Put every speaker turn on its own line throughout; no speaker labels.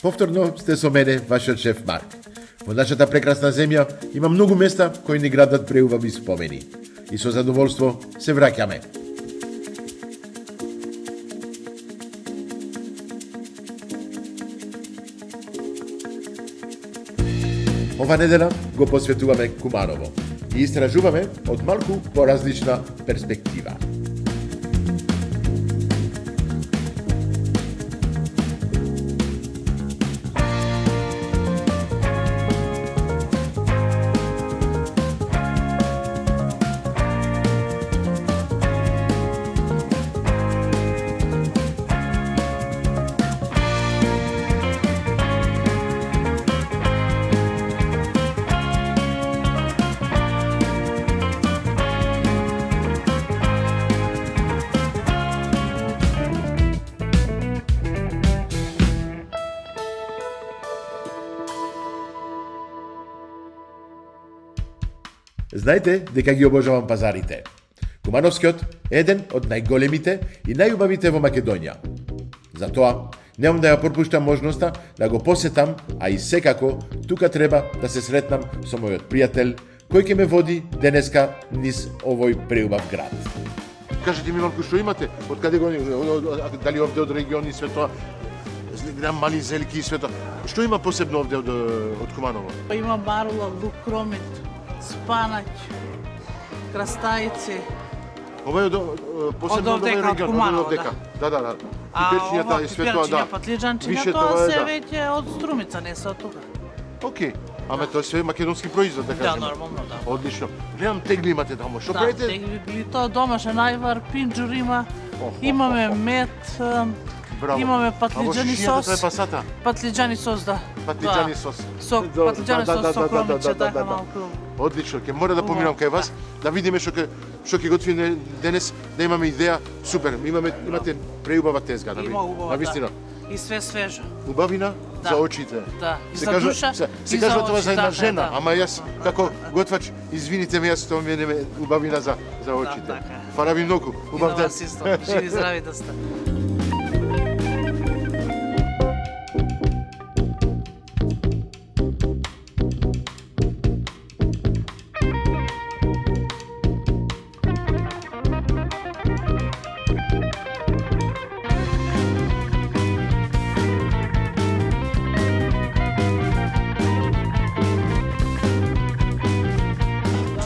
Повторно сте со мене, вашиот шеф Марк. Во нашата прекрасна земја има многу места кои ни градат преубави спомени. И со задоволство се враќаме. Ова недела го посветуваме Куманово и истражуваме од малку поразлична перспектива. Знаете дека ги обожавам пазарите. Кумановскиот е еден од најголемите и најубавите во Македонија. Затоа, немам да ја пропуштам можноста да го посетам, а и секако тука треба да се сретнам со мојот пријател, кој ќе ме води денеска низ овој преубав град. Кажете ми малку што имате, од каде го дали овде од региони све тоа, гледам мали зелки и све тоа. Што има посебно овде од Куманово?
Има марула, лук, кромит, спанаќ, крастајци.
Ова е посебно од овој регион, од дека. Да. Пипечнијата и све тоа, да.
Патлиџанчиња, тоа се веќе од Струмица, не се од тука.
Океј. Аме тоа се македонски производ, да кажеме.
Да, нормално, да.
Одлично. Гледам тегли имате таму. Што правите?
Да, тегли, тоа домашен ајвар, пинџур има, имаме мед, имаме патлиџани сос.
Тоа е пасата?
Патлиџани сос, да.
Патлиџани сос.
Патлиџани сос со кромиче, така малку.
Одлично, ќе мора да поминам кај вас, да видиме што ќе готвиме денес, да имаме идеја. Супер, имате преубава тезга, да навистина.
И све свежо.
Убавина за очите.
Да, и за душа,
се кажува тоа за една жена, ама јас како готвач, извините ме, јас тоа ми е убавина за очите. Фала ви многу, убав ден.
Живи здрави да сте.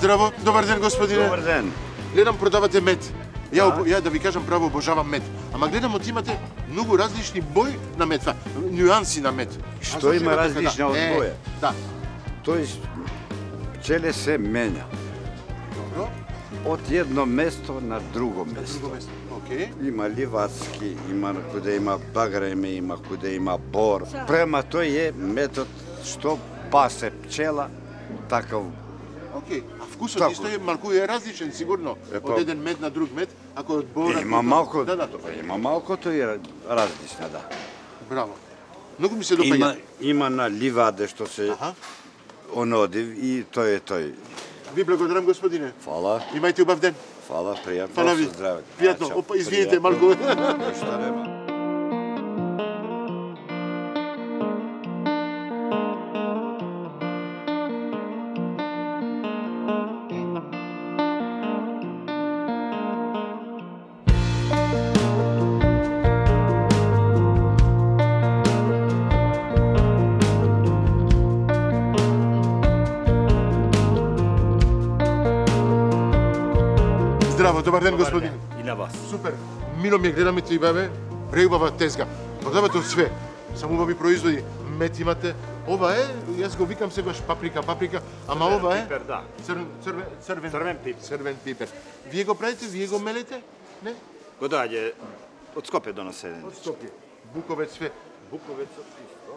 Здраво, добар ден господине.
Добар ден.
Гледам продавате мед. Ја да ви кажам право, обожавам мед. Ама гледам од имате многу различни бои на мед, нюанси на мед.
Што има различна од боја?
Да.
Тој пчеле се менја.
Добро.
Од едно место на друго место.
Океј.
Има ливацки, има куде има багреме, има куде има бор. Према тој е метод што пасе пчела такав.
Океј, а вкусот исто е малку е различен сигурно од еден мед на друг мед, ако од бора.
Има малку.
Да.
Има малку тој различна, да.
Браво. Многу ми се допаѓа.
Има на ливаде што се онодив и тој е тој.
Ви благодарам господине.
Фала.
Имајте убав ден.
Фала, пријатно.
Фала ви.
Здраве.
Пријатно. Опа, извините малку.
Ништо нема.
Здраво, добар ден господин.
И на вас.
Супер. Мило ми гледаме ти бабе, преубава тезга. Продавате од све. Само убави производи. Мед имате. Ова е, јас го викам сегаш паприка, ама ова е
пипер, да.
Црвен пипер. Вие го правите, вие го мелете? Не?
Го доаѓа од Скопје доносе.
Од Скопје. Буковец све.
Буковецот исто.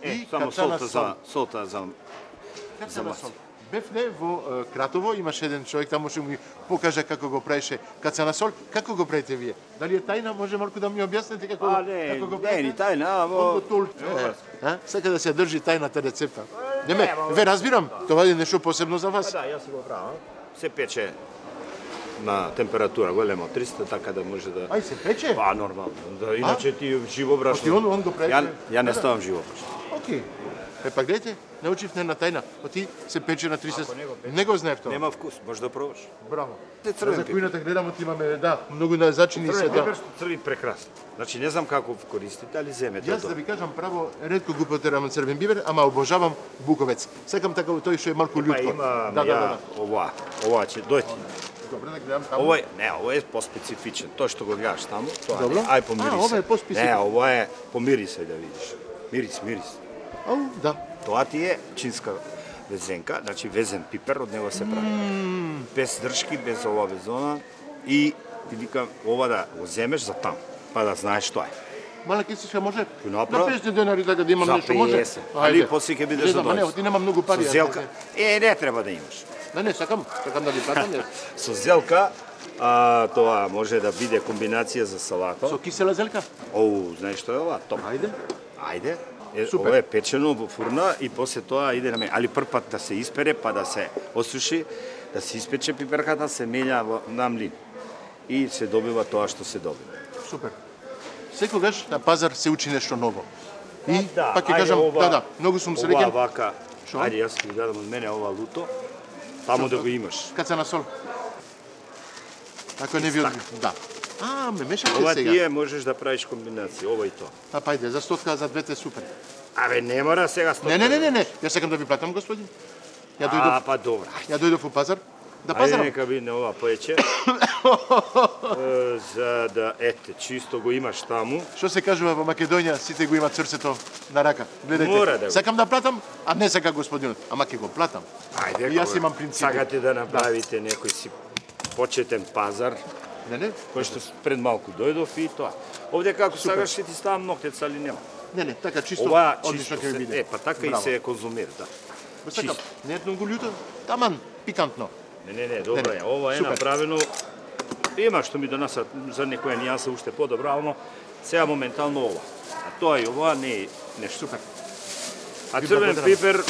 И
само
кацана
солта за
Кацана сол. Бевне во Кратово, имаше еден човек таму што ми покажа како го правеше кацана сол. Како го правите вие? Дали е тајна? Може малку да ми објасните како го правите?
Не, ни тајна, амо...
Сека да се држи тајната рецепта. Не, ве разбирам, тоа е нешто посебно за вас.
Да, јас го правам. Се пече на температура голема од 300, така да може да...
Ај се пече?
Па, нормално. Да, иначе ти живо брашно...
Ти он го прави?
Ја не ставам живо брашно.
Океј. Па гледате, научив една тајна. Ти се пече на 300. Не го знаев тоа.
Нема вкус, можеш да пробаш.
Браво.
Црвен
За
пипер.
кујната гледам, имаме, да, многу на зачини се,
Црвен
да.
пипер што црви прекрасно. Значи не знам како користите, али земете
Јас
тоа.
да ви кажам право, ретко го потерам црвен бибер, ама обожавам буковец. Сакам така тој што е малку
Па
лутко.
има
Да, да.
ова ќе дојде.
Добре, да гледам таму.
Ова е поспецифичен. Тоа што го гледаш таму, тоа
Добро.
не. Ај помири се.
Ова е поспецифичен.
Не, ова е помири се да видиш. Мирис.
Ау, да.
Тоа ти е чинска везенка, значи везен пипер, од него се прави. Без држки, без ова везона и ти викам ова да го земеш за таму, па да знаеш што е.
Мала кисичка може на
направо.
50 денари така да имам
За
нешто, може?
50. Али после ќе бидеш
да
задоволен.
Не, ти нема многу пари.
Со зелка, не треба да имаш.
Не, сакам да ви платам.
Со зелка, тоа може да биде комбинација за салата.
Со кисела зелка?
Оу, знаеш што е ова? Топ. Ајде.
Супер.
Ова е печено во фурна и после тоа иде на али прв пат да се испере, па да се осуши, да се испече пиперката, се мења на млин. И се добива тоа што се добива.
Супер. Секогаш на пазар се учи нешто ново. И
Да,
пак ќе
ајде,
кажам,
ова-
да, многу сум
Ова
среќен.
вака,
Шо?
ајде јас ќе дадам од мене ова луто, таму да го имаш.
Каца на сол. Ако не ви одби. Да. Ме мешате
Ова
сега.
тие можеш да правиш комбинација, ова и тоа.
Па ајде, за стотка за двете супер.
Абе, не мора сега сто.
Не. Јас сакам да ви платам, господин. Ја дојдов,
Па добро.
ја дојдов у пазар. Да
Ајде
пазарам.
нека биде ова поече. За да чисто го имаш таму.
Што се кажува во Македонија, сите го имаат срцето на рака. Гледајте.
Мора да го.
Сакам да платам, а не сака господинот, ама ќе го платам.
Ајде,
И јас имам принципи.
Сакате да направите некој си почетен пазар,
Не.
кој што пред малку дојдов и тоа. Овде како сакаш ќе ти ставам ноктец, али нема.
Не, така чисто,
Ова
одлично
чисто
ќе
се,
ви биде.
па така и
Браво.
се конзумира, да.
Го сакам,
чисто.
не е многу љуто, таман, пикантно.
Не, добро е. Ова е
супер.
направено. Има што ми донесат за некоја нијанса уште подобра, ално сега моментално ова. А тоа и ова не е нешто.
Супер.
А
Ви
црвен
благодарам.
пипер,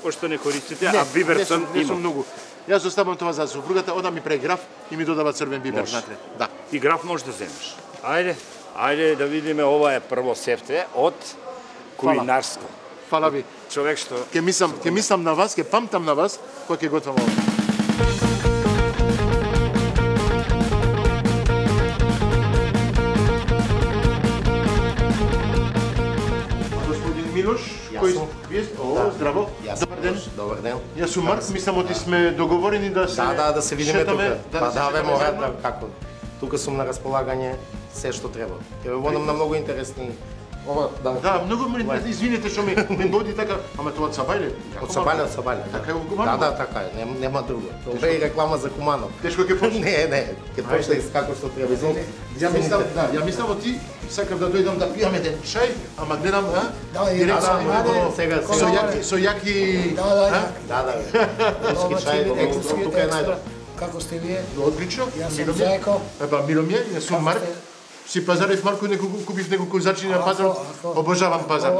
пошто не користите, а биберцен
не сум
има.
многу. Јас оставам тоа за супругата, ода ми преграф и ми додава црвен бибер
Може.
внатре. Да.
И граф можеш да земеш. Ајде да видиме, ова е прво сефте од кулинарско.
Фала ви.
Човек што
Ќе мислам на вас, ќе памтам на вас кога ќе готвам ова. Господин Милош, кој вие сте? Здраво. Добар ден.
Добар ден.
Јас сум Марк, мислам оти сме договорени да се
Да се видиме
шетаме,
тука.
да
Па
се
да,
шетаме
мора
заедно.
да, како. Тука сум на располагање се што треба. Ќе ве водам на многу интересни. Ова,
Да, многу ме извините што ми води така, ама тоа од Сабајле.
Од Сабајле.
Така е во Куманово.
Да, така е, нема друго. Тоа е и реклама за Куманово.
Тешко ќе почне.
Не, ќе почне како што треба.
Ја мислам оти сакам да дојдам да пијаме ден чај, ама гледам,
сега
со јаки,
Да. Руски чај, екзотски тука е најдобро.
Како сте вие?
одлично.
Јас
Мило
сум
ми е.
Зајко.
Епа, мило ми е, јас сум Марк. Си пазарев Марко, купив неколку зачини на пазарот. Обожавам пазар.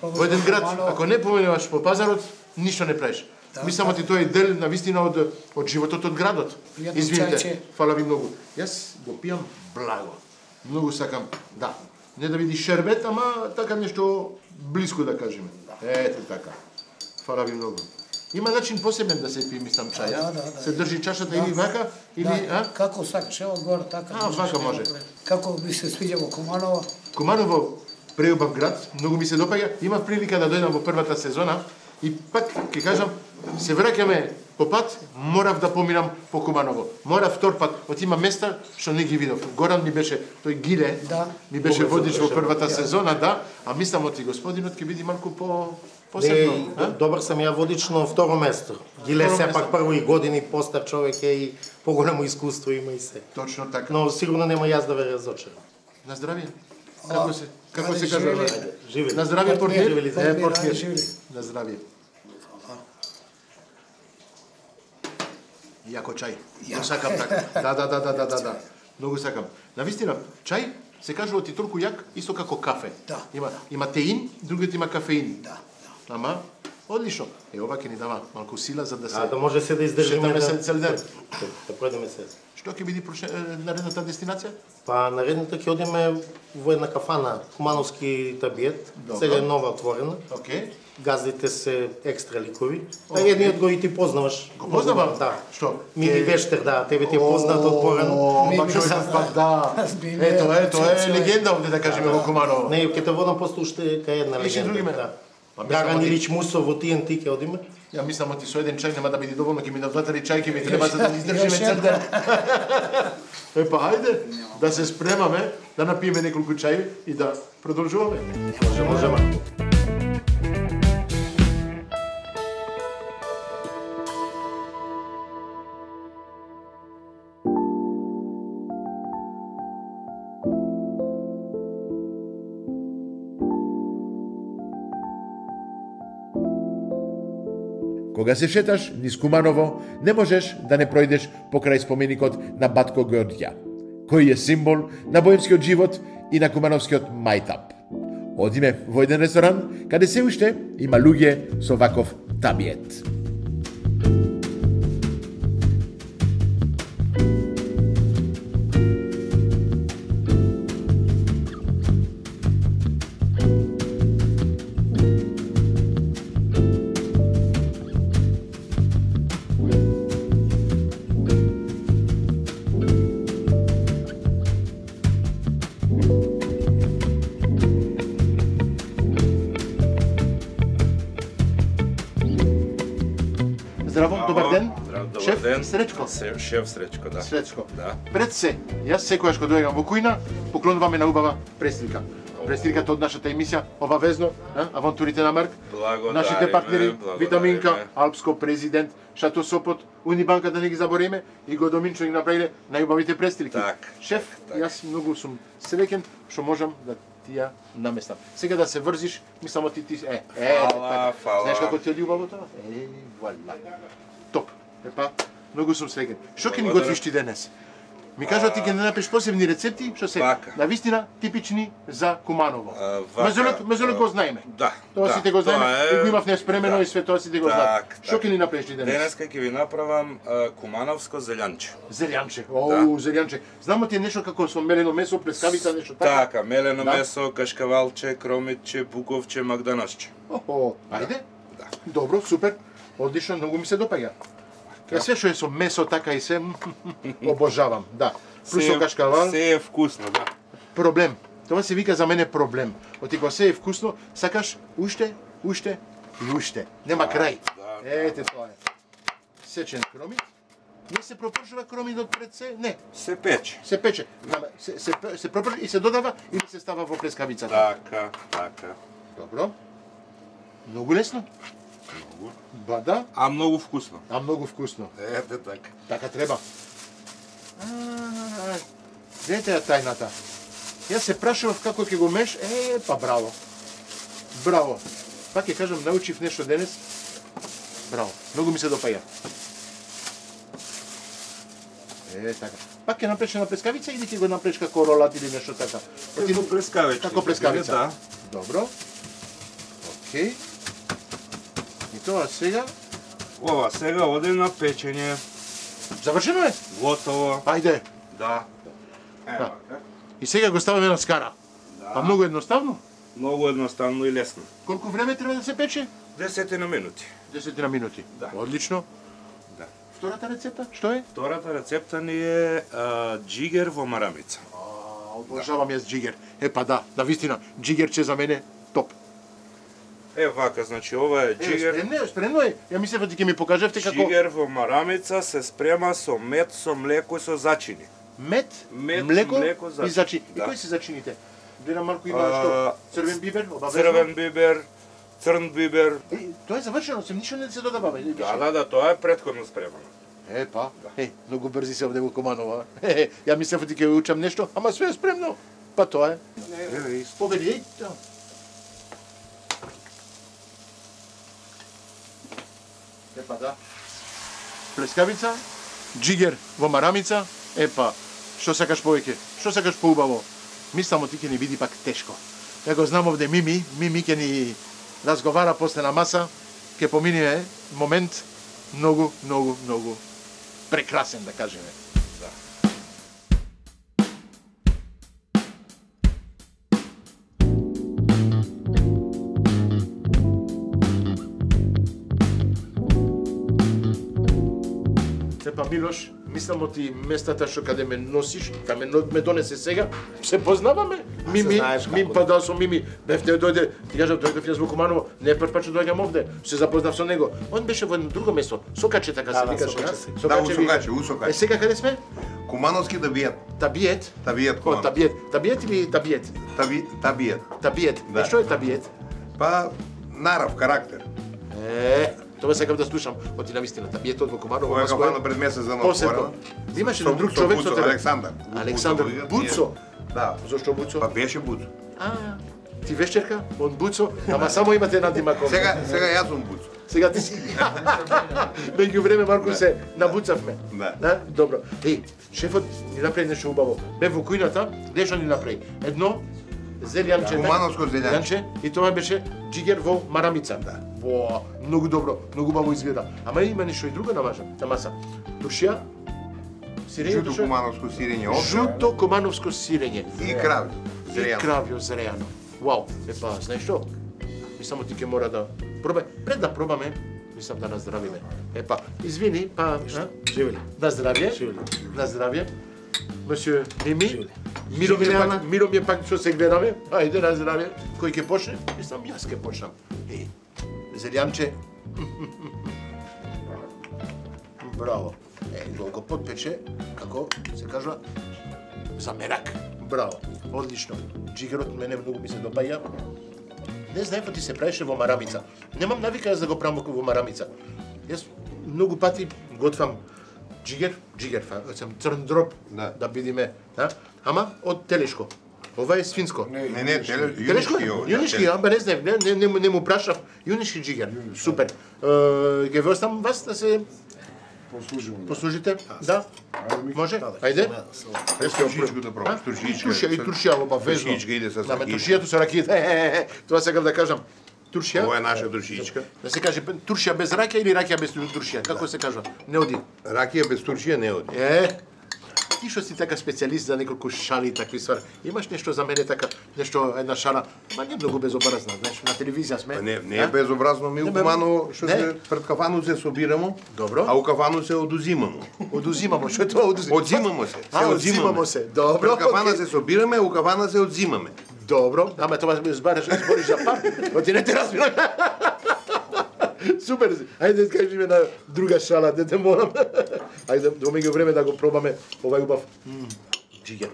Во еден град, ако не поменуваш по пазарот, ништо не правиш. Мислам ти тоа е дел на вистина од животот од градот.
Пријатно
Извините,
чајче.
фала ви многу. Јас го пијам благо. Многу сакам, да. Не да види шербет, ама така нешто блиско да кажеме. Ето така. Фала ви многу. Има начин посебен да се пие, мислам, чај,
Да.
Се држи чашата или вака, или,
Како сакаш, ево горе така.
вака може.
Како ви се свиѓа во Куманово?
Куманово преубав град, многу ми се допаѓа. Имав прилика да дојдам во првата сезона и пак ќе кажам, се враќаме по пат, морав да поминам по Куманово. Морав втор пат, од има места што не ги видов. Горан ми беше, тој Гиле,
Да.
ми беше водич во првата сезона, да, а мислам оти господинот ќе биде малку посебно.
Добар сам ја водич на второ место. Гиле
Второ
сепак прво и години постар човек е и поголемо искуство има и се.
Точно така.
Но сигурно нема јас да ве разочарам.
На здравје. Како се
Ајде,
кажува?
живели.
Живели.
На здравје, портиер.
Живели,
живели.
Портиер.
Живели.
На здравје. Јако чај. Ја сакам така. Да. Многу сакам. Навистина, чај се кажува ти толку јак, исто како кафе.
Да.
Има теин, другиот има кафеин.
Да.
Ама Одлично. Ова ќе ни дава малку сила за да се...
Да може се да издржиме
Шетаме се цел ден.
Да пројдеме се.
Што ќе биде наредната дестинација?
Па наредната ќе одиме во една кафана, Кумановски табиет. Сега е нова отворена.
Океј.
Газдите се екстра ликови. Едниот го и ти познаваш.
Го познавам?
Да.
Што?
Мини Вештер, да, тебе ти е познат отворен.
Пак човекот пак да. Тоа е легенда овде да кажеме во Куманово.
Не, ќе те водам после уште кај една
Иши
легенда.
други ме?
Да.
Па
Драган Илич Мусов во TNT ќе одиме.
Ја мислам оти со еден чај нема да биде доволно, ќе ми дадат чај, ќе ми треба за да издржиме цел ден. Епа, хајде, да се спремаме, да напиеме неколку чаи и да продолжуваме.
Можеме.
Кога се шеташ низ Куманово, не можеш да не пројдеш покрај споменикот на Батко Горѓа, кој е символ на боемскиот живот и на кумановскиот мајтап. Одиме во еден ресторан, каде се уште има луѓе со ваков табиет. Здраво, добар ден. Шеф Сречко.
Шеф Сречко, да.
Сречко.
Да.
Пред се, јас секогаш кога доаѓам во кујна, поклонуваме на убава престилка. Престилката од нашата емисија, обавезно, авантурите на Марк.
Благодариме.
Нашите партнери,
благодариме.
Витаминка, Алпско Президент, Шато Сопот, Унибанка да не ги забориме и го Доминчо ги направиле најубавите престилки.
Так,
Шеф,
так.
јас многу сум среќен што можам да ти ја наместам. Сега да се врзиш, мислам ти
Фала, фала.
Знаеш како ти оди убаво тоа? Вуала. Топ. Епа, многу сум среќен. Што ќе ни
Благодарам.
готвиш ти денес? Ми кажува ти ќе не напиш посебни рецепти што се
Вака.
навистина типични за Куманово.
Вака,
Мезолет го знаеме.
Да.
Тоа
да,
сите го знаеме,
тоа
и го имав неспремено
да.
и све тоа сите го знаат.
Так,
Што
так.
ќе ни направиш ти денес?
Денеска ќе ви направам кумановско зелјанче.
Зелјанче.
Да.
Зелјанче. Знамо ти е нешто како со мелено месо, плескавица, нешто така?
Така, мелено
Да.
месо, кашкавалче, кромитче, буковче, магданосче.
Ајде.
Да.
Добро, супер. Одлично, многу ми се допаѓа. Ја све што е со месо така и се обожавам, да. Плюс со кашкавал,
Се е вкусно, да.
проблем. Тоа се вика за мене проблем. Оти кога се е вкусно, сакаш уште и уште. Нема крај.
да.
Ете тоа е. Сечен кромит. Не се пропршува кромитот пред се? Не.
Се пече.
Се пече. Се пропршува и се додава или се става во плескавицата.
Така, така.
Добро. Многу лесно.
Многу.
Ба да,
А многу вкусно.
а многу вкусно.
Ете така.
Така треба. Дете ја тајната. Јас се прашував како ќе го меш, па браво. Браво. Пак ќе кажам, научив нешто денес. Браво. Многу ми се допаѓа. Така. Пак ќе направиш на плескавица или ќе го направиш како ролат или нешто така?
Како плескавица.
Како плескавица?
Да.
Добро. Океј. И тоа сега
Ова сега оди на печење.
завршено е.
Готово.
Ајде.
Да.
Да. И сега го ставаме на скара. Па многу едноставно.
Многу едноставно и лесно.
Колку време треба да се пече?
10 на минути.
10 на минути.
Да.
Одлично.
Да.
Втората рецепта, што е?
Втората рецепта ни е джигер во марамица.
Обожавам јас джигер. Па да, навистина, джигерче за мене топ.
Вака, значи ова е джигер.
Спремно е. Ја мислев дека ќе ми покажевте како
Джигер во марамица се спрема со мед, со млеко и со зачини.
мед,
Мед,
млеко
млеко,
и
зачини.
зачини. И
Да.
кои се зачините? Гледам малку има што? Црвен бибер, обавезно.
Црвен бибер, црн бибер.
Тоа е завршено, сем ништо не се додава.
Да, тоа е претходно спремано.
Па, многу брзи се овде во Куманово. Ја мислев дека ќе учам нешто, ама све е спремно. Па тоа е. Поведи, Епа да. Плескавица, джигер во марамица, епа, што сакаш повеќе? Што сакаш поубаво? Мислам ти ќе ни биде пак тешко. Ја го знам овде Мими ќе ни разговара после на маса ќе помине момент многу прекрасен, да кажеме. Сепа Милош, мислам од ти местата што каде ме носиш, да ме донесе сега, се познаваме. Мими, па да со Мими, бевте дојде, ти кажав дојдев јас во Куманово, не прв пат што доаѓам овде, се запознав со него. Он беше во едно друго место, Сокаче така се викаше,
Да, у Сокаче.
Сега каде сме?
Кумановски Табиет.
Табиет?
Табиет,
О, Табиет. Табиет или Табиет?
Табиет.
Табиет.
Да.
Што е Табиет?
Па, нарав, карактер.
Тоа сакам да слушам од навистина. Табиетот во Куманово.
Ова е кафана пред месец дана
отворено. Имаше друг човек со тебе.
Александар.
Александар Буцо.
Да.
Зошто Буцо?
Па беше Буцо.
Ти вечерка, он Буцо, ама само имате една димаков.
Сега јас сум Буцо.
Сега ти си. Меѓу време малку се набуцавме.
Да.
Добро. Шефот ни направи нешто убаво. Бе во кујната, што ни направи? Едно зелјанче.
Кумановско зелјанче.
И тоа беше джигер во марамица.
Да.
Во, многу добро, многу убаво изгледа. Ама има нешто и друго на маса. Туршија, сирење,
Жуто кумановско сирење овче.
Жуто кумановско сирење.
И кравјо.
И кравјо зрејано. Вау, епа, знаеш што? Мислам ти ќе мора да пробај. Пред да пробаме, мислам да наздравиме. Епа, извини, па,
Живели.
на здравје.
Живели.
На здравје. Мсье Мими.
Живели.
Миро ми е пак што се гледаме. Ајде на здравје. Кој ќе почне? Мислам јас ќе почнам. Зелјанче. Браво. Го подпече, како се кажува, за мерак. Браво. Одлично. Джигерот мене многу ми се допаѓа. Не знаев ти се правеше во марамица. Немам навика јас да го правам во марамица. Јас многу пати готвам джигер, црн дроб, да бидиме, ама од телешко. Ова е свинско.
Не,
Телешко? Јунишки, ама не знаев, не му прашав. Јунишки джигер. Супер. Ќе ве оставам вас да се послужите? Да? Може? Ајде.
Туршичко да пробаш.
И туршија обавезно.
Туршичка иде со ракија.
Туршијата со ракија. Тоа сакам да кажам. Туршија.
Ова е наша туршичка.
Да се каже туршија без ракија или ракија без туршија? Како се кажува? Не оди.
Ракија без туршија не оди.
Ти што си така специјалист за неколку шали и такви ствари. Имаш нешто за мене така, нешто една шала, ма не многу безобразна, знаеш, на телевизија сме.
Не е безобразно, ми у Куманово што се пред кафану се собирамо.
Добро.
А у кафану се одузимамо.
Одузимамо, што е тоа одузимамо?
Одзимамо се.
Одзимамо се. Добро.
Пред кафана се собираме, у кафана се одзимаме.
Добро, ама тоа збориш за пар. Оти не те разбирам. Супер. Ајде кажи ми на друга шала, дете молам. Ајде до меѓу време да го пробаме овај убав. Джигер.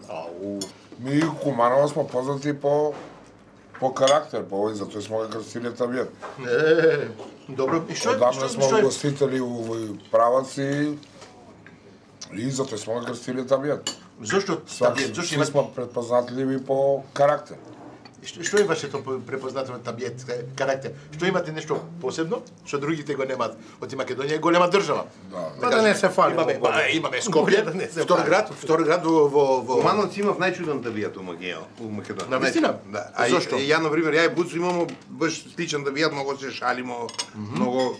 Ми Куманово сме познати по карактер, по овој, затоа сме го крстили Табиет.
Добро. И што?
Одамна сме гостители у овој праваци и затоа сме го крстили Табиет.
Зошто Табиет? Зошто
Сви сме предпознатливи по карактер.
Што е вашето препознатливо Табиет карактер? Што имате нешто посебно, што другите го немаат? Оти Македонија е голема држава.
Да не се фали.
Имаме Скопје, втор град во
Кумановци имав најчуден Табиет у Македонија.
Навистина?
Да.
Зошто?
Ја на пример, ја и Буцо имамо баш сличен Табиет, многу се шалимо, многу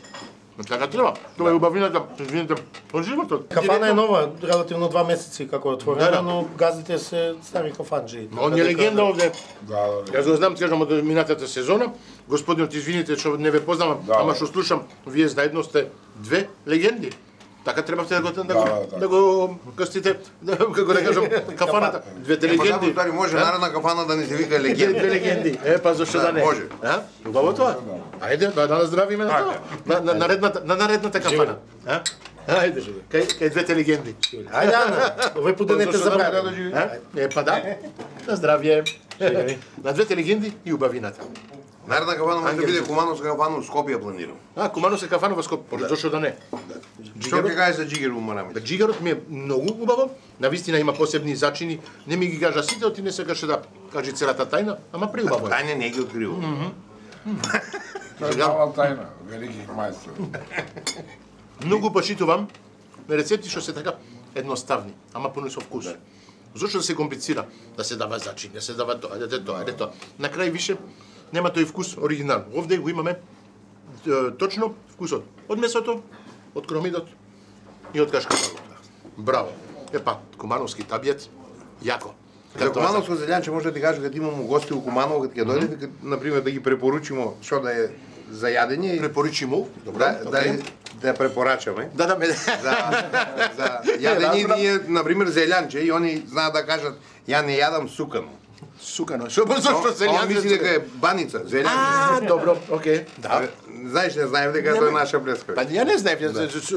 така треба. Тоа е убавината, извините, од животот.
Кафана е нова, релативно 2 месеци како е отворена, но газите се стари кафанџи.
Он е легенда овде.
Да.
Јас го знам, кажам, од минатата сезона. Господинот, извините што не ве познавам, ама што слушам, вие заедно сте две легенди. Така требавте да го крстите, како да кажам, кафаната. Двете легенди.
Епа, може наредна кафана да не се вика легенди.
Две легенди. Па зашто да не?
Може.
Убаво тоа. Ајде, да наздравиме на тоа. На наредната кафана. Ајде, кај двете легенди.
Ајде, Ана, овој пут да не те забрави.
Па да. На здравје. На двете легенди и убавината.
Наредна кафана може да биде Кумановска кафана у Скопје планирам.
Кумановска кафана во Скопје. Зошто да не?
Што ќе кажеш за джигер у марамица?
Джигерот ми е многу убаво. Навистина има посебни зачини. Не ми ги кажа сите, оти не сакаше да кажи целата тајна, ама преубаво е.
Тајна не ги открива.
Тоа е мала тајна, велики мајстор.
Многу почитувам рецепти што се така едноставни, ама пуни со вкус. Зошто да се комплицира? Да се дава зачини, да се дава тоа, тоа. На крај више нема тој вкус оригинал. Овде го имаме точно вкусот од месото, од кромидот и од кашкавалот. Браво. Епа, кумановски табјец, јако.
За кумановско зелјанче може да ти кажам, кога имamo гости у Куманово, кога ќе дојдете, например да ги препоручимо што да е за јадење.
Препоручимо, добро,
да ја препорачаме.
Да,
за јадење ние, например, зелјанче и они знаат да кажат ја не јадам сукано.
Сукано. Зошто зелјанче?
Он мисли дека е баница, зелјанче.
Добро, окей. Да.
Знаеш, не знаев дека тоа е наша плеска.
Па ја не знаев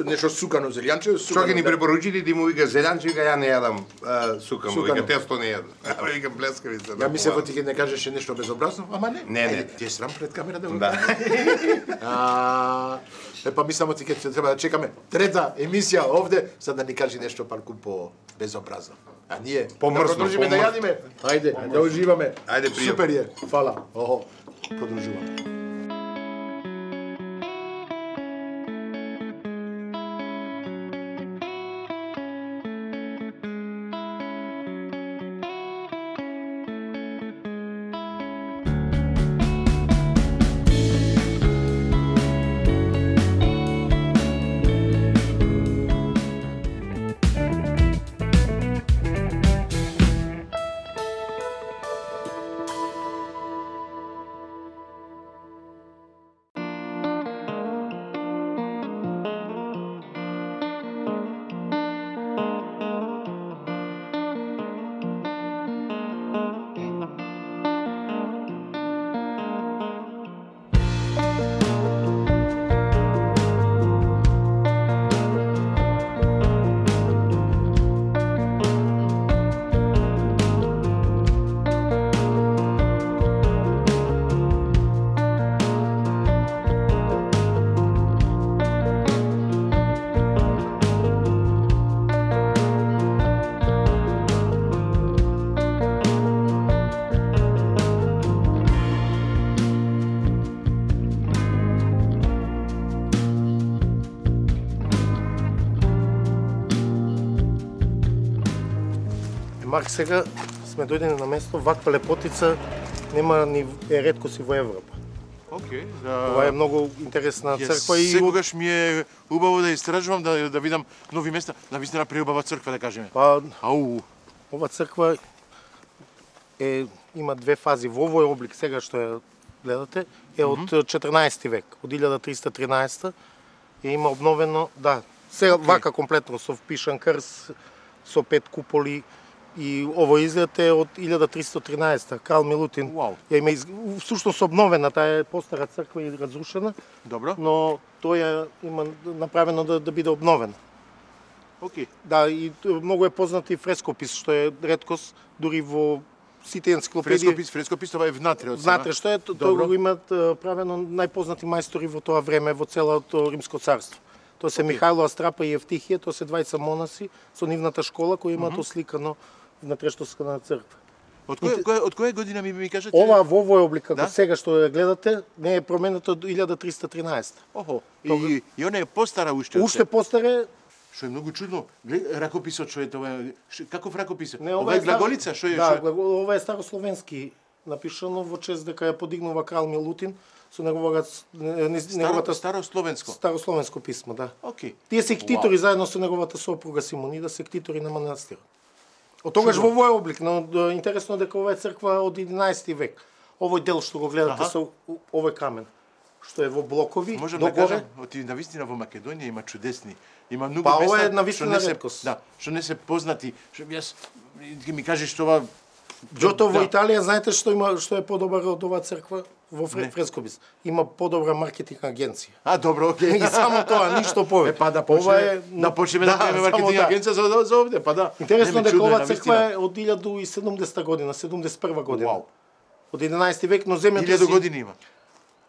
нешто сукано зелјанче.
Што ќе ни препоручите, ти му вика зелјанче, вика ја не јадам сукано, вика тесто не јадам. Викам плескавица.
Ја мислев ти ќе не кажеше нешто безобразно, ама не.
Не.
Ти е срам пред камера да го
Да.
Епа мислам ти ќе треба да чекаме трета емисија овде за да ни кажи нешто парку по безобразно. А ние
помрсно,
продолжиме да јадиме. Ајде, да уживаме.
Ајде, пријатно.
Супер е. Фала. Охо. Продолжуваме.
Марк, сега сме дојдени на место, ваква лепотица нема ни е реткост и во Европа.
Океј,
Ова е многу интересна црква и
секогаш ми е убаво да истражувам, да видам нови места, навистина преубава црква да кажеме.
Па,
ау,
ова црква има две фази. Во овој облик сега што ја гледате е од 14 век, од 1313 има обновено, да, сега вака комплетно со впишан крст, со 5 куполи. И ово изглед е од 1313, Крал Милутин. Ја има всушност обновена, таа е постара црква и разрушена.
Добро.
Но тоа има направено да биде обновена.
Океј.
Да, и многу е познат и фрескопис, што е реткост дури во сите енциклопедии.
Фрескопис това е внатре од
Внатре што е, тоа го имаат правено најпознати мајстори во тоа време во целото Римско царство. Тоа се Михајло Астрапа и Евтихија, тоа се двајца монаси со нивната школа кои имаат осликано внатрешноста на црква.
Од која година ми кажете?
Ова во овој облик како сега што ја гледате не е променето од 1313.
Охо. И она е постара уште.
Уште постара.
Што е многу чудно. Ракописот што е тоа? Каков ракопис?
Не,
ова е глаголица, што е?
Да, ова е старословенски напишано во чест дека ја подигнува крал Милутин со неговата
старословенско.
Старословенско писмо, да.
Океј.
Тие се ктитори заедно со неговата сопруга Симонида, се ктитори на манастирот. Од тогаш во овој облик, но интересно дека ова е црква од 11 век. Овој дел што го гледате со овој камен, што е во блокови,
можам да кажам, навистина во Македонија има чудесни, има многу
места. Па ова е
што
навистина реткост.
Да, што не се познати. Јас ми кажеш тоа
Џото во Италија, знаете што е подобар од оваа црква во фрескопис? Има подобра маркетинг агенција.
Добро, океј.
И само тоа, ништо повеќе.
Па да почнеме да правиме маркетинг агенција за овде, па да.
Интересно дека оваа црква е од 1070 година, 71 година.
Вау.
Од 11 век, но земјата
1000 години има.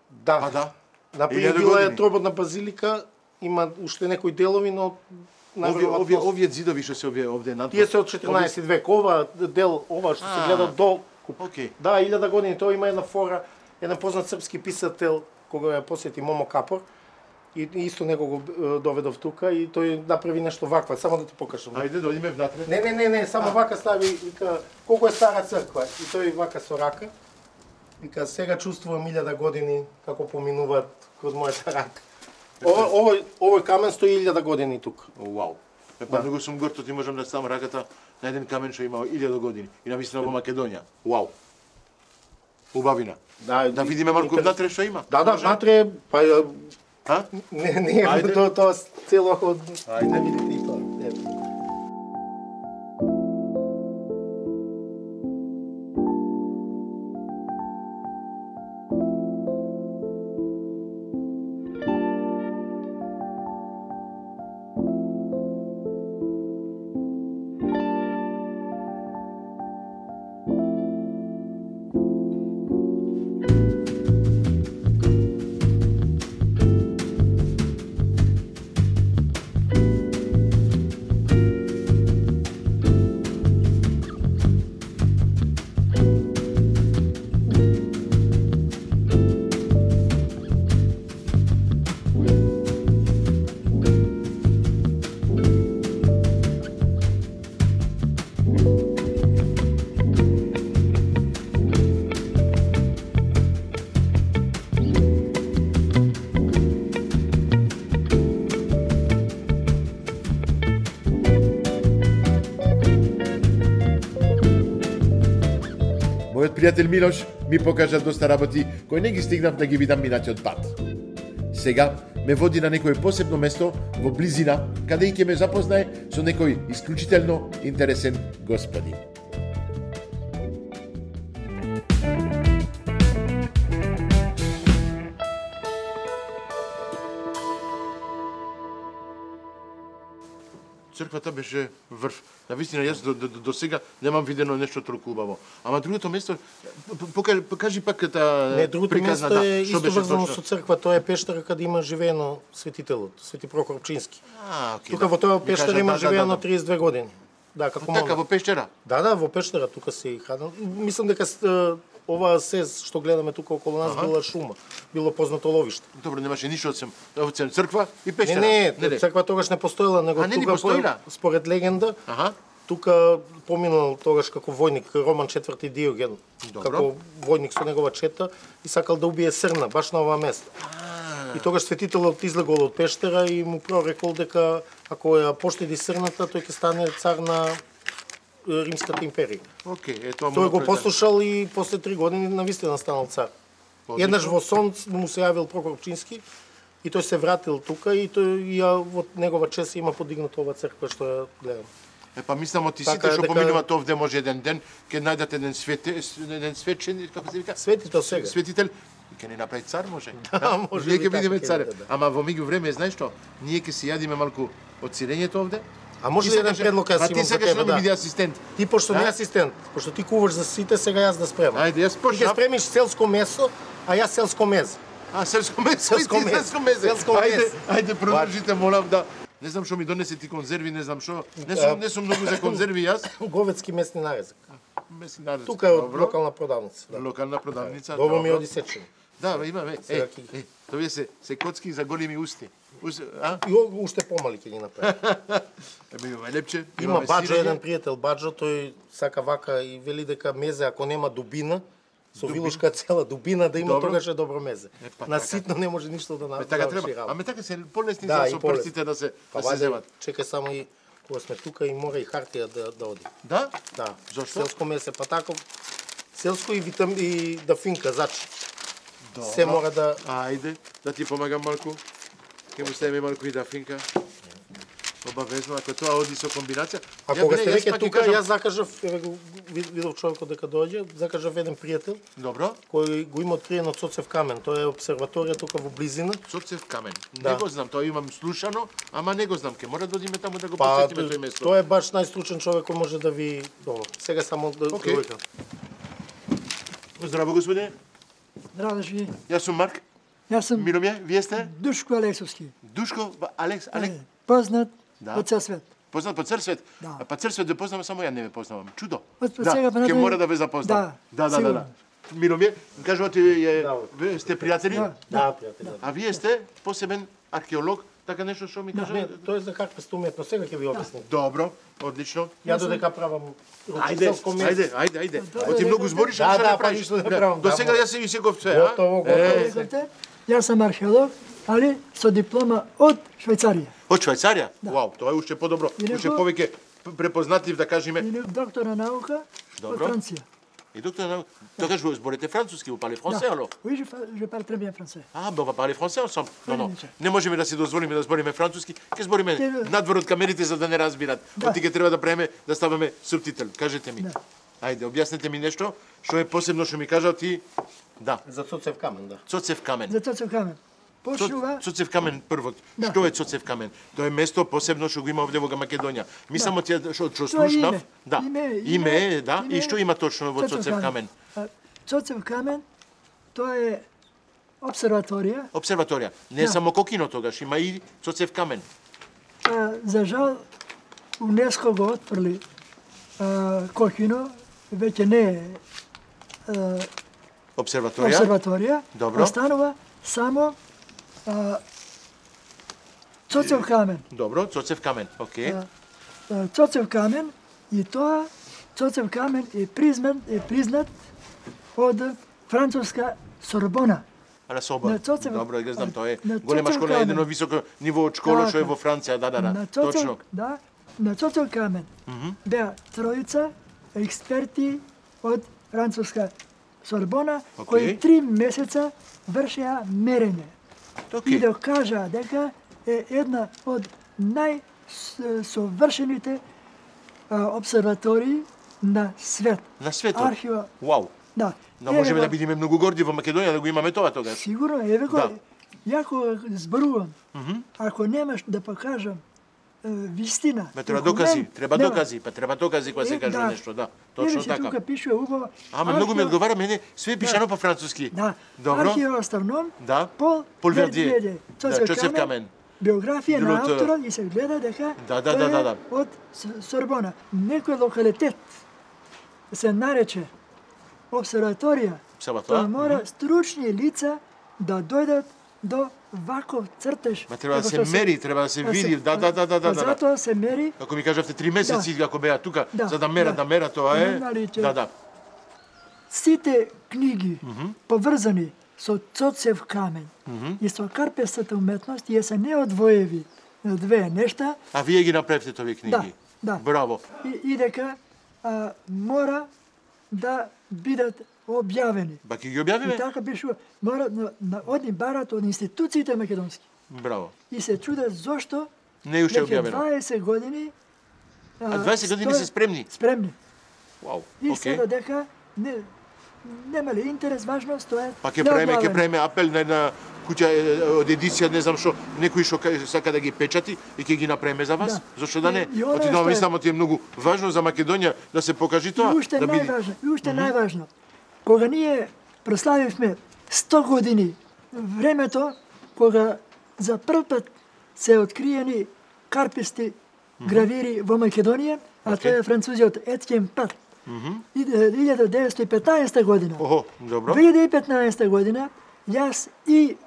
Да.
Па да.
Например, била е троботна базилика, има уште некои делови, но
овие зидови што се овде надвор.
Тие се од 14 век. Ова дел, ова што се гледа до Да, 1000 години, тоа има една фора, еден познат српски писател кога ја посети Момо Капор и исто него го доведов тука и тој направи нешто ваква, само да ти покажам.
Ајде, дојдеме внатре.
Не, само вака стави, вика, колку е стара црква и тој вака со рака. Вика, сега чувствувам 1000 години како поминуваат кроз мојата рака. Овој камен стои 1000 години тука.
Вау. Па многу сум горд, ти можам да ставам раката на еден камен што има 1000 години и навистина во Македонија. Вау. Убавина.
Да,
да видиме малку внатре што има.
Да, внатре, па не е тоа цело од
Ајде
видите и тоа.
Пријател Милош ми покажа доста работи кои не ги стигнав да ги видам минатиот пат. Сега ме води на некој посебно место во близина, каде и ќе ме запознае со некој исклучително интересен господин. Црквата беше врв. Навистина, јас до сега немам видено нешто толку убаво. Ама другото место, покажи пак таа
Не, другото место е исто врзано со црква, тоа е пештера каде има живеено светителот, Свети Прокоп Пчински. Тука во тоа пештера има живеено 32 години. Да, како монах.
Така во пештера?
Да, во пештера тука се и хранел. Мислам дека ова се што гледаме тука околу нас била шума, било познато ловиште.
Добро, немаше ништо од црква и пештера.
Не, црква тогаш не постоела, него тука според легенда, тука поминал тогаш како војник Роман IV Диоген, како војник со негова чета и сакал да убие срна баш на ова место. И тогаш светителот излегол од пештера и му прорекол дека ако ја поштеди срната, тој ќе стане цар на Римската империја. Тој го послушал и после 3 години навистина станал цар. Еднаш во сон му се јавил Прокоп Пчински и тој се вратил тука и тој во негова чест има подигната ова црква што ја гледам.
Па мислам од сите што поминуваат овде може еден ден ќе најдат еден светчен, како се вика?
Светител сега.
Светител ќе ни направи цар може.
Да, може.
Ние ќе бидеме царе. Ама во меѓувреме знаеш што? Ние ќе се јадиме малку од сирењето овде.
А може ли еден предлог јас имам за тебе?
Ти сакаш да ми биде асистент.
Ти пошто не асистент, пошто ти куваш за сите, сега јас да спремам.
Ајде, јас почнав.
Ти ќе спремиш селско месо, а јас селско мезе.
Селско месо, Ајде, продолжите, молам да. Не знам што ми донесе ти конзерви, не знам што. Не сум многу за конзерви јас.
Говедски месни нарезок.
Месни нарезок.
Тука е од локална продавница.
Локална продавница.
Добро ми оди сечени.
Да, имаме. Тоа се коцки за големи усти.
И уште помали ќе ги направи.
Имаме лепче.
Има Баджо, еден пријател Баджо, тој сака вака и вели дека мезе ако нема дубина, со вилушка цела дубина да има, тогаш е добро мезе. На ситно не може ништо да направи.
Така треба. Аме така се полесни за со прстите да се земат.
Чекај само и кога сме тука и мора и хартија да оди.
Да?
Да.
Зошто?
Селско месе, па тако селско и да финка зачи. Се мора да...
Ајде, да ти помагам малку. Ке му ставиме малку и да финка. Обавезно, ако тоа оди со комбинација.
А кога сте веќе тука, јас закажав, видов човекот дека доаѓа, закажав еден пријател.
Добро.
Кој го има откриено Цоцев камен. Тоа е обсерваторија тука во близина.
Цоцев камен. Не го знам, тоа имам слушано, ама не го знам. Ке мора да одиме таму да го посетиме тој место.
Тоа е баш најстручен човек кој може да ви сега само да дојдам.
Здраво, господине.
Здраво живи.
Јас сум Марк.
Јас сум
Миломје, вие сте?
Душко Алексовски.
Душко Алекс.
Познат по цел свет.
Познат по цел свет?
Да.
Па цел свет да познавам, само ја не ме познавам. Чудо.
Ќе
мора да ве запознам. Да. Миломје, кажувате сте пријатели?
Да, пријатели.
А вие сте посебен археолог, така нешто што ми кажа?
Не, тоа е за карпеста уметност, сега ќе ви објаснам.
Добро, одлично.
Ја додека правам
Ајде. Оти многу збориш,
да правиш.
До сега јас се ви секов све,
Готово.
Јас сум археолог, али со диплома од Швајцарија.
Од Швајцарија? Вау, тоа е уште подобро, уште повеќе препознатлив, да кажеме.
И доктор на наука од Франција.
И доктор на наука, тогаш vous зборите француски, vous parlez français alors?
Oui, je parle très bien français.
Ah, ben on va parler français ensemble. Non, не можеме да си дозволиме да збориме француски, ќе збориме надвор од камерите за да не разбират. Оти ќе треба да преме да ставаме субтител. Кажете ми. Ајде, објаснете ми нешто, што е посебно што ми кажал ти. Да.
За Цоцев камен, да.
Цоцев камен.
За Цоцев камен. Почнува.
Цоцев камен првот. Што е Цоцев камен? Тоа е место посебно што го има овде во Македонија. Ми само ти што слушнав, да. Име, да. И што има точно во Цоцев камен?
Цоцев камен тоа е обсерваторија.
Обсерваторија. Не само Кокино тогаш, има и Цоцев камен.
За жал УНЕСКО го отфрли Кокино, веќе не е обсерваторија.
Добро.
Останува само Цоцев камен.
Добро, Цоцев камен, окей.
Цоцев камен и тоа Цоцев камен е признат од француска Сорбона.
На Сорбона. Добро, ја знам, тоа е голема школа, едно високо ниво од школа што е во Франција, да, точно.
Да, на Цоцев камен беа тројца експерти од француска Сорбона кои 3 месеца вршеа мерење. И докажа дека е една од најсовршените обсерватории на свет.
На светот?
Архива.
Вау.
Да.
Но можеме да бидеме многу горди во Македонија да го имаме тоа тогаш.
Сигурно, еве го. Јако зборувам. Ако немаш да покажам вистина.
Треба докази, треба докази кога се кажува нешто, да. Точно така.
Тука пише убаво.
Ама многу ми одговара мене, све пишано по француски.
Да.
Добро.
Археоастроном.
Да.
Пол
Вердие. Цоцев камен.
Биографија на авторот и се гледа дека
да.
од Сорбона. Некој локалитет се нарече обсерваторија. Тоа мора стручни лица да дојдат до ваков цртеж.
Треба да се мери, треба да се види. Да.
Затоа се мери.
Ако ми кажавте 3 месеци, ако беа тука, за да мера, тоа е. Да.
Сите книги поврзани со Цоцев камен и со карпестата уметност ја се неодвоеви две нешта.
А вие ги направивте овие книги?
Да.
Браво.
И дека мора да бидат објавени.
Ба ќе ги објавиме?
И така пишува, мора одни барат од институциите македонски.
Браво.
И се чудат зошто
не уште објавено.
20 години
20 години се спремни.
Спремни.
Вау.
И сега дека нема ли интерес, важно стојат.
Па ќе правиме апел на една куќа од едиција, не знам што, некој што сака да ги печати и ќе ги направиме за вас. Зошто да не? Отидоме и само ти е многу важно за Македонија да се покажи тоа.
И уште најважно. Кога ние прославивме 100 години, времето кога за прв пат се откриени карписти гравири во Македонија, а тоа е французиот Еткен Пат. 1915 година.
Добро.
2015 година јас и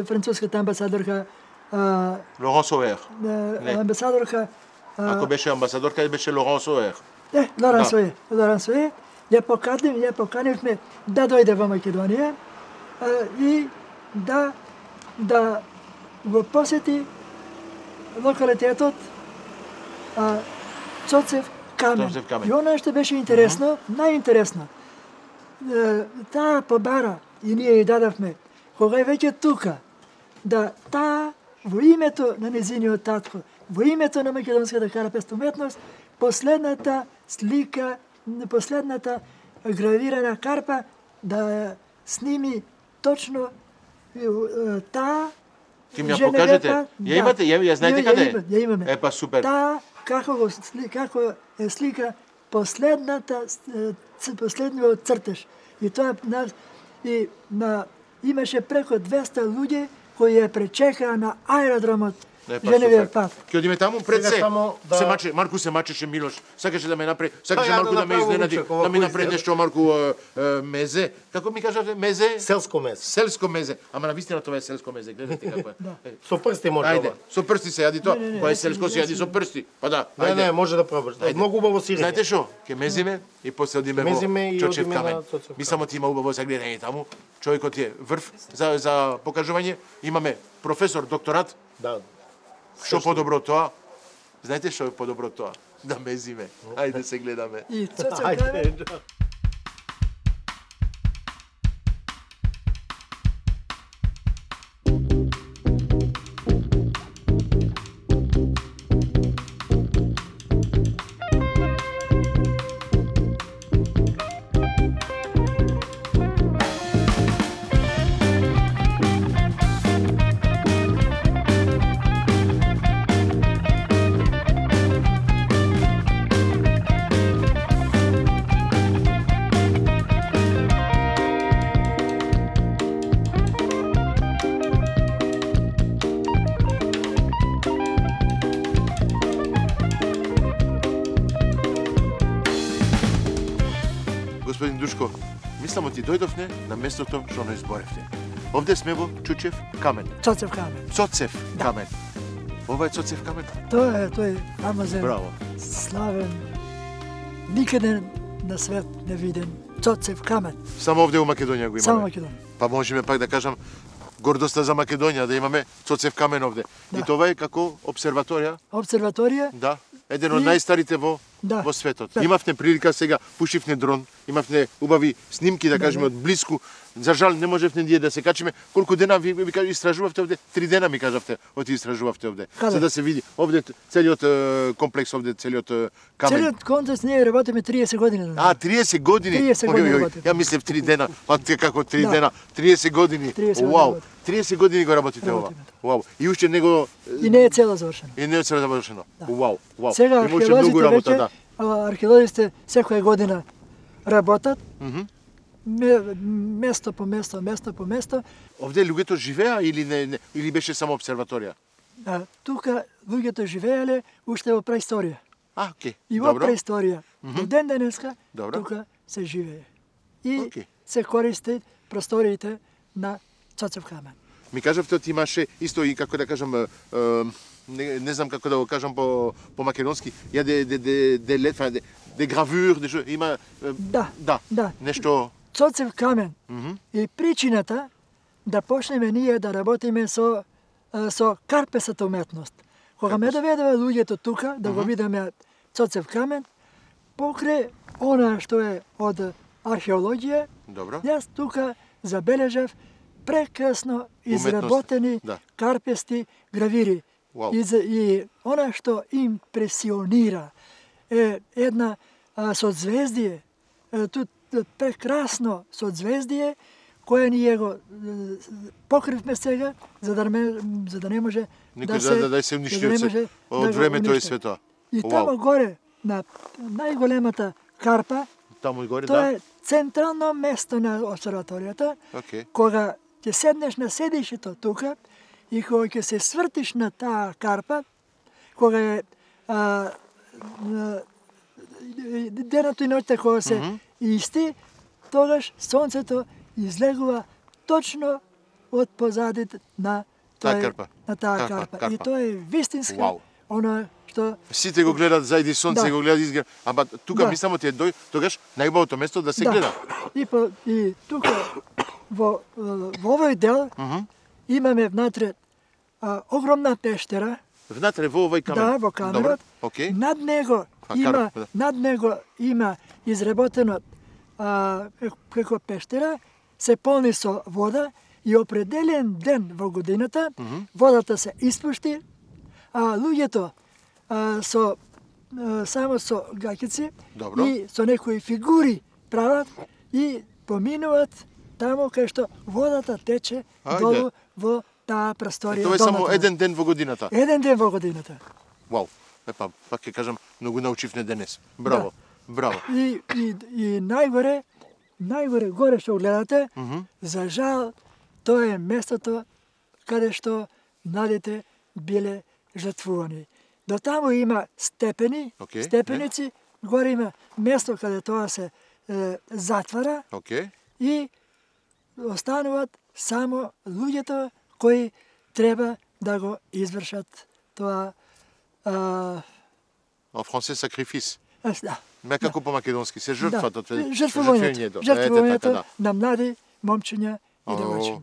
француската амбасадорка
Лоран Соер.
Амбасадорка
ако беше амбасадорка, беше Лоран Соер.
Лоран Соер. Ја поканивме да дојде во Македонија и да го посети локалитетот Цоцев камен. И оно што беше интересно, најинтересно, таа побара и ние ја дадавме, кога е веќе тука, да таа во името на незиниот татко, во името на македонската карапест уметност, последната слика, последната гравирана карпа да сними точно таа.
Ќе ми ја покажете? Ја имате? Ја знаете каде е?
Ја имаме.
Епа супер.
Таа како е слика последниот цртеж. И тоа имаше преко 200 луѓе кои ја пречекаа на аеродромот Женевиот пат.
Ќе одиме таму пред
Сега
се.
само да-
Се маче, Марку се мачеше Милош. Сакаше да ме направи, сакаше
ја
Марку
да
да ме
направи
изненади,
ручек, ова
да ми
кој
направи
се-
нешто Марку мезе. Како ми кажавте, мезе?
Селско месо.
Селско мезе. Ама навистина тоа е селско мезе. Гледате како е.
Со прсти може
Ајде,
ова.
со прсти се јади тоа. Кога е селско се јади со прсти. Па да,
Не,
ајде.
може да пробаш.
Ајде.
Многу убаво сирење.
Знаете што? Ке мезиме и после одиме
Мезиме и
во Чочев
одиме
камен.
на Чочев
Ми само ти има убаво за гледање таму. Човекот е врв за покажување. Имаме професор, докторат.
Да.
Што подобро од тоа? Знаете што е подобро од тоа? Да мезиме. Ајде се гледаме.
И Цоцев камен.
Господин Душко, мислам ти дојдовне на местото што не изборевте. Овде сме во Чучев камен.
Цоцев камен.
Цоцев камен. Ова е Цоцев камен?
Тој е фамозен,
Браво.
славен, никаде на свет не виден Цоцев камен.
Само овде у Македонија го имаме.
Само Македонија.
Па можеме пак да кажам гордоста за Македонија да имаме Цоцев камен овде.
Да.
И тоа е како обсерваторија,
Обсерваторија,
да, еден од
И-
најстарите во
Да.
во светот.
Да.
Имавте прилика сега, пушивте дрон, имавте убави снимки да кажеме од блиску. За жал не можевте ние да се качиме. Колку дена ви истражувавте овде? 3 дена ми кажавте, оти истражувавте овде.
Каде?
За да се види овде целиот комплекс овде, целиот камен.
целиот контекст ние работиме 30 години.
А, 30 години?
30 години работиме.
Ја мислев 3 дена. А ти како 3
Да.
дена? 30 години.
30 години
Вау.
работиме.
30 години го работите ова.
Работиме,
Вау. И уште него
И не е цело завршено.
и не е цело завршено. Вау, вау.
Сега
Има уште многу
археолозите
работа,
веќе,
да.
археолозите секоја година работат,
Мгм.
место по место.
Овде луѓето живеа или не или беше само обсерваторија?
Тука луѓето живееле уште во преисторија.
А, окей.
И во
Добро.
преисторија. До ден денеска
Добро.
тука се живее. И
Окей.
се користи просториите на Цоцев камен.
Ми кажавте ти имаше исто и како да кажам не знам како да го кажам по македонски, ја де гравюр, има
Да.
да, нешто
Цоцев камен и причината да почнеме ние да работиме со карпесата уметност. Кога ме доведува луѓето тука да го видиме Цоцев камен, покрај она што е од археологија,
добро.
јас тука забележав прекрасно изработени
да.
карпести гравири.
Вау.
И она што импресионира е една созвездие, тут прекрасно созвездие, кое ние го покривме сега, за да не може
Никој да се уништи од времето и свето.
И тамо горе, на најголемата карпа,
Таму и горе,
тоа
да.
е централно место на обсерваторијата,
Окей.
кога ќе седнеш на седишето тука и кога ќе се свртиш на таа карпа, кога е денот и ноќта кога се исти, тогаш сонцето излегува точно од позадите на
Таа карпа.
на таа карпа. И тоа е вистинска
Вау.
она што
Сите го гледат зајди сонце,
Да.
го гледат изглед. Ама тука
Да.
ми само ти е тогаш најубавото место да се
Да.
гледа.
И тука во овој дел имаме внатре огромна пештера.
Внатре во овој камен.
Да, во каменот.
Добро. Окей.
Над него
карп, да.
има изработено како пештера, се полни со вода и определен ден во годината водата се испушти, а луѓето само со гаќици
Добро.
и со некои фигури прават и поминуваат таму кај што водата тече
Ајде.
долу во таа просторија.
Тоа е само
долната.
еден ден во годината.
Еден ден во годината.
Вау. Пак ќе кажам, многу научивме денес. Браво. Браво.
И најгоре горе што гледате, за жал, тоа е местото каде што младите биле жртвувани. До таму има степени, степеници, горе има место каде тоа се затвара и остануваат само луѓето кои треба да го извршат тоа.
En français, sacrifice.
Да.
Ме како по македонски се жртвата,
жртвувањето на млади момчиња и девојчиња.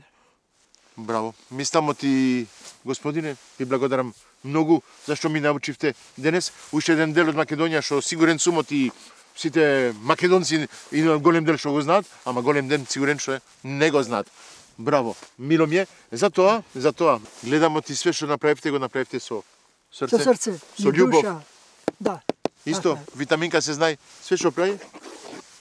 Браво. Мислам ти, господине, ви благодарам многу зашто ми научивте денес уште еден дел од Македонија што сигурен сум и сите македонци и голем дел што го знаат, ама голем дел сигурен што не го знаат. Браво. Мило ми е. Затоа гледам ти све што направивте, го направивте со срце.
Со срце,
со љубов.
душа. Да.
Исто, витаминка се знае, све што прави?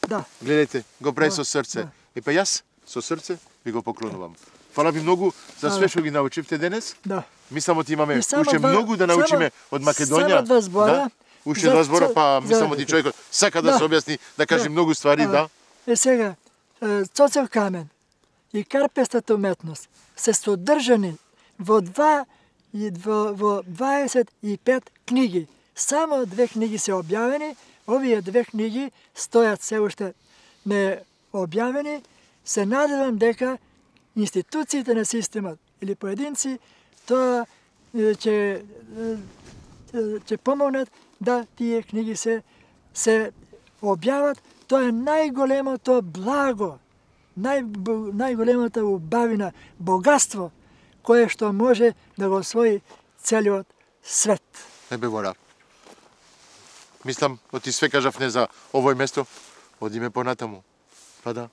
Да.
Гледайте, го прави со срце. И па јас со срце ви го поклонувам. Фала ви многу за све што ги научивте денес.
Да.
Мислам ти имаме уште многу да научиме од Македонија.
Само два збора.
Уште два збора, па мислам ти човекот сака да се објасни, да каже многу ствари, да.
Сега, Цоцев камен и карпестата уметност се содржани во 25 книги. Само 2 книги се објавени, овие 2 книги стојат се уште не објавени. Се надевам дека институциите на системот или поединци тоа ќе помогнат да тие книги се објават. Тоа е најголемото благо, најголемата убавина, богатство кое што може да го освои целиот свет.
Ебе гора. Мислам, оти све кажавне за овој место, одиме понатаму. Па да.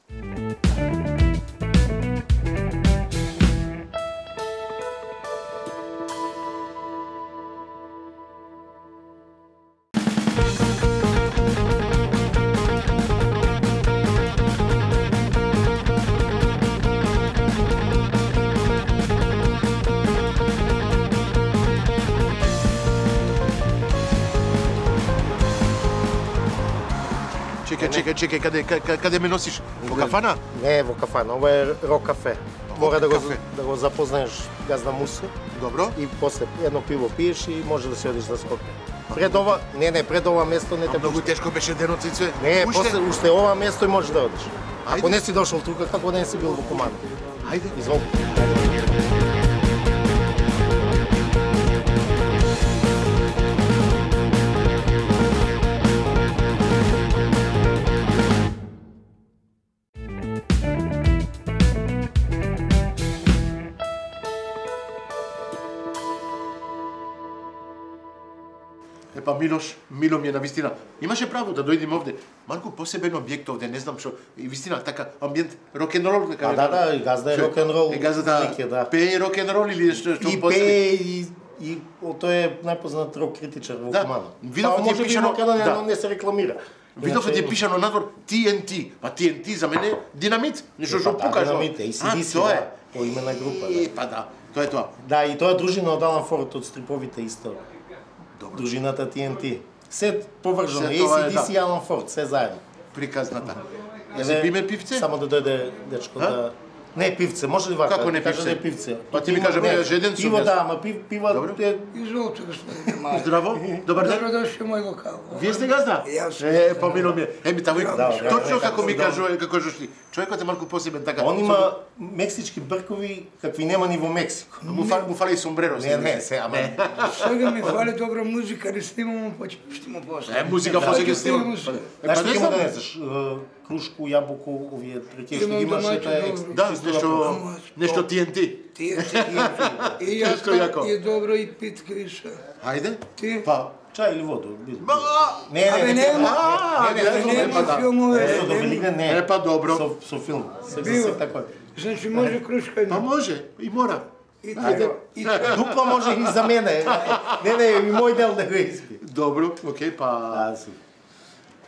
Чекај, каде ме носиш? Во кафана?
Не, во кафана, ова е рок кафе. Мора да го запознаеш газда Муса.
Добро.
И после едно пиво пиеш и може да се одиш да скокне. Пред ова, пред ова место не те
многу тешко беше денот цице.
Не, после уште ова место и можеш да одиш. Ако не си дошол тука, како не си бил во Куманово.
Ајде.
Изволни.
Епа Мило ми е навистина. Имаше право да дојдем овде. Малку посебен објект овде, не знам што. И вистина така амбиент рок-н-рол дека.
Да, и газда е рок-н-рол.
И газда пее рок-н-рол или што
и пее и тој е најпознат рок критичар во Куманово.
Видов ти пишано
да не се рекламира.
Видов ти пишано надвор TNT. Па TNT за мене динамит, нешто што пукаш.
Динамит, ACDC, тоа е по име на група.
Па да, тоа е тоа.
Да, и тоа е дружина од Алан Форд од стриповите исто. Дружината TNT. Се повржано, ACDC и Алан Форд, се заедно.
Приказната. Се пиме пивце?
Само да дојде дечко да... Не, пивце, може ли вака?
Како не пивце?
Кажа да е пивце.
Па ти ми кажа, жеден сум.
Пиво да, ама пива...
Изволте, господине Маје.
Здраво, добар ден.
Добродошли мој локал.
Вие сте газда?
Јас.
Помило ми е. Еми, тамо точно како ми кажува, како жошли. Човекот е малку посебен така.
Он има мексички бркови какви нема ни во Мексико.
Му фали сомбреро.
Не, се, ама.
Сега ми фали добра музика, не снимам, па ќе му после.
Музика после ќе снимам.
Знаеш што ќе му донесеш? Крушку, јабуко, овие трекешки имаш
да, нешто TNT.
И јако, и добро и питка више.
Ајде.
Ти?
Па, чај или воду?
Не,
Не,
па добро.
Со филм.
Биво. Значи може крушка.
Па може, и мора.
Дупла може и за мене. Не, и мој дел да го испи.
Добро, окей, па...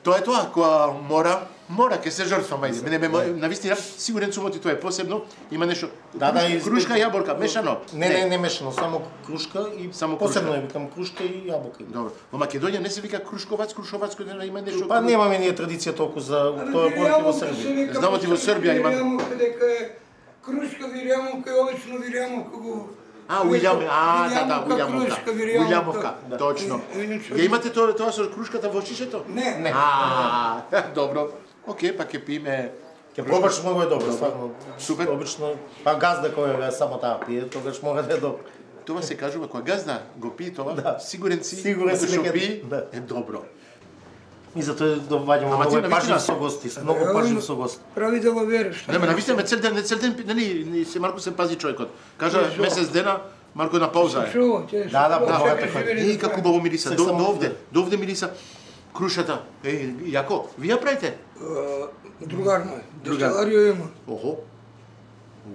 Тоа е тоа, која мора ќе се жртвам, ајде. Мене навистина, сигурен сум тоа е посебно, има нешто. Крушка, јаболка, мешано.
Не мешано, само крушка и посебно е викам крушка и јаболка.
Добро. Во Македонија не се вика крушковац, кој има нешто.
Па немаме ние традиција толку за тоа повеќе во Србија.
Знамо ти во Србија има.
Дека крушка вирјамовка и обично вирјамовка го
Уилјамовка, точно. Ја имате тоа со крушката во шишето?
Не.
Добро. Океј, па ќе пиме.
Ќе пробаш, многу е добро, стварно.
Супер.
Обично, па газда која само таа пие, тогаш мора да е добро.
Тоа се кажува, кога газда го пие тоа, сигурен си,
што
пие, е добро.
И затоа доваѓаме многу пажлив со гости, многу пажлив со гости.
Прави да го вериш.
Не, навистина цел ден, нели, се Марко се пази човекот. Кажа месец дена, Марко на пауза е.
Да,
и како убаво мириса, до овде мириса крушата. Јако, ви ја правите?
Другар мој, дестиларија има.
Охо.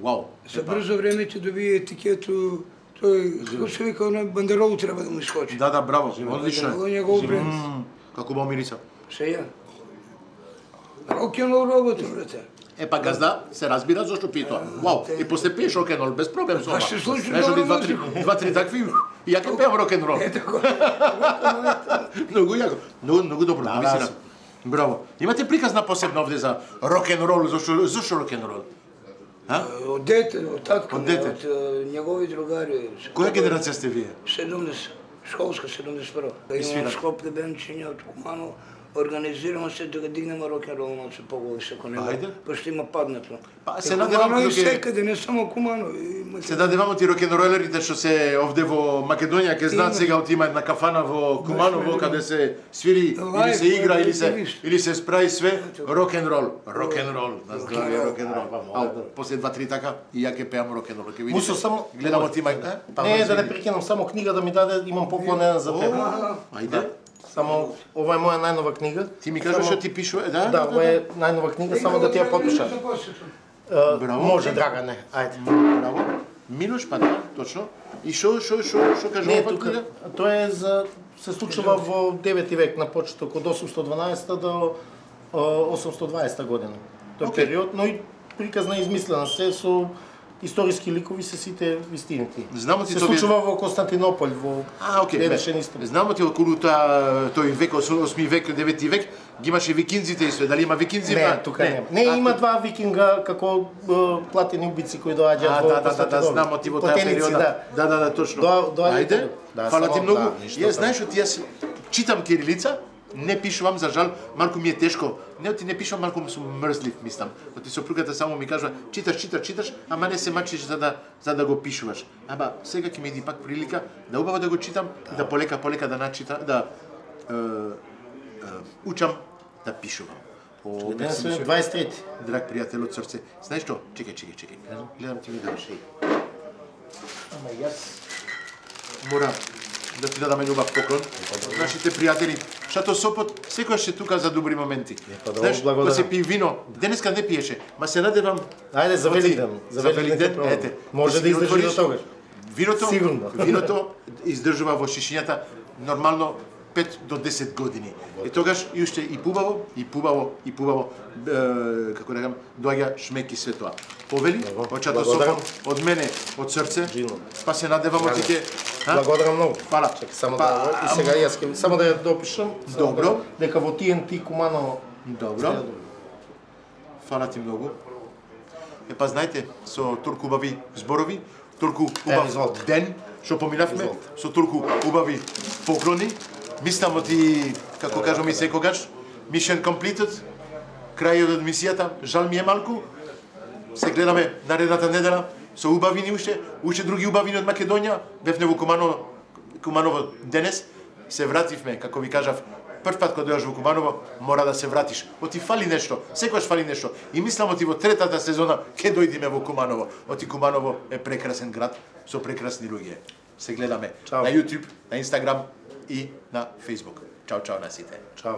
Вау.
За брзо време ќе добие етикету. Тој, како се вика, оној бандеролу треба да му искочи.
Да, браво, одлично.
Тоа е негов бренд.
Како убаво мириса.
Сеја. Рок-н-рол работа, брате.
Па газда се разбира зашто пие тоа. Вау, и после пиеш рок-н-рол без проблем со ова.
Се случи
два-три такви, и ја ќе пеам рок-н-рол. Многу јако, многу добро, навистина. Браво. Имате приказна посебна овде за рок-н-рол, зашто рок-н-рол?
Од дете, од татко, од негови другари.
Која генерација сте вие?
70, школска 71. Имам Скопје бенчиња од Куманово. Организираме се да го дигнеме рок-н-рол малце повисоко него. Пошто има паднато.
Па се надевам
и секаде, не само Куманово.
Се надевам ти рок-н-ролерите што се овде во Македонија ќе знаат сега има една кафана во Куманово каде се свири или се игра или се spraи све рок-н-рол. Рок-н-рол, на здравје рок-н-рол. После 2-3 така и ја ќе пеам рок-н-рол. Ќе видите. Гледам од има.
Не, да не прекинам, само книга да ми даде, имам поклон еден за тебе.
Ајде.
Само ова е моја најнова книга.
Ти ми кажеш што ти пишува, да?
Да, ова е најнова книга, само да ти ја подпишам. Може, Драгане, ајде.
Браво. Милош, па да, точно. И што кажува ова книга?
Тоа е за се случува во 9 век на почеток од 812 до 820 година. Тој период, но и приказна измислена се со историски ликови се сите вистините. Се случува во Константинополј, во Ледешен исток.
Знамо ти околу тој век, 8 век, 9 век, ги имаше викинзите и све, дали има викинзи?
Не, тука нема. Не, има два викинга како платени убици кои доаѓаат во Константинополј.
Да, знамо ти во таа периода. Да, точно. Ајде, фала ти многу. Јас знаеш што јас читам кирилица, не пишувам, за жал, малку ми е тешко. Не, ти не пишувам, малку сум мрзлив, мислам. Оти сопругата само ми кажува, читаш, ама не се мачиш за да го пишуваш. Аба, сега ќе ми иди пак прилика да убаво да го читам и да полека да начитам, да учам да пишувам.
23.
Драг пријател од срце. Знаеш што? Чекај. Гледам ти ми даваш. Ама јас мора да ти дадам љубав поклон. Нашите пријатели, Шато Сопот, секојаш е тука за добри моменти. Знаеш, кога се пие вино, денеска не пиеше, ма се надевам.
Ајде за Великден.
За Великден, ете.
Може да издржи до тогаш.
Виното издржува во шишињата нормално 5 до 10 години. И тогаш и уште и пубаво, како да кажам, доаѓа шмек и све тоа. Повели, од Шато Сопот, од мене, од срце, па се надевам од тите.
Благодарам многу.
Фала.
Само да и сега јас ќе само да ја допишам.
Добро.
Дека во TNT Куманово.
Добро. Фала ти многу. Па знаете, со толку убави зборови, толку убав ден што поминавме, со толку убави поклони, мислам оти, како кажам и секогаш, mission completed, крајот од мисијата, жал ми е малку, се гледаме наредната недела, со убавини уште други убавини од Македонија, бевме во Куманово денес, се вративме, како ви кажав, прв пат кога дојаш во Куманово, мора да се вратиш. Оти фали нешто, секогаш фали нешто. И мислам оти во третата сезона ќе дојдеме во Куманово. Оти Куманово е прекрасен град со прекрасни луѓе. Се гледаме на YouTube, на Instagram и на Facebook. Чао на сите.
Чао.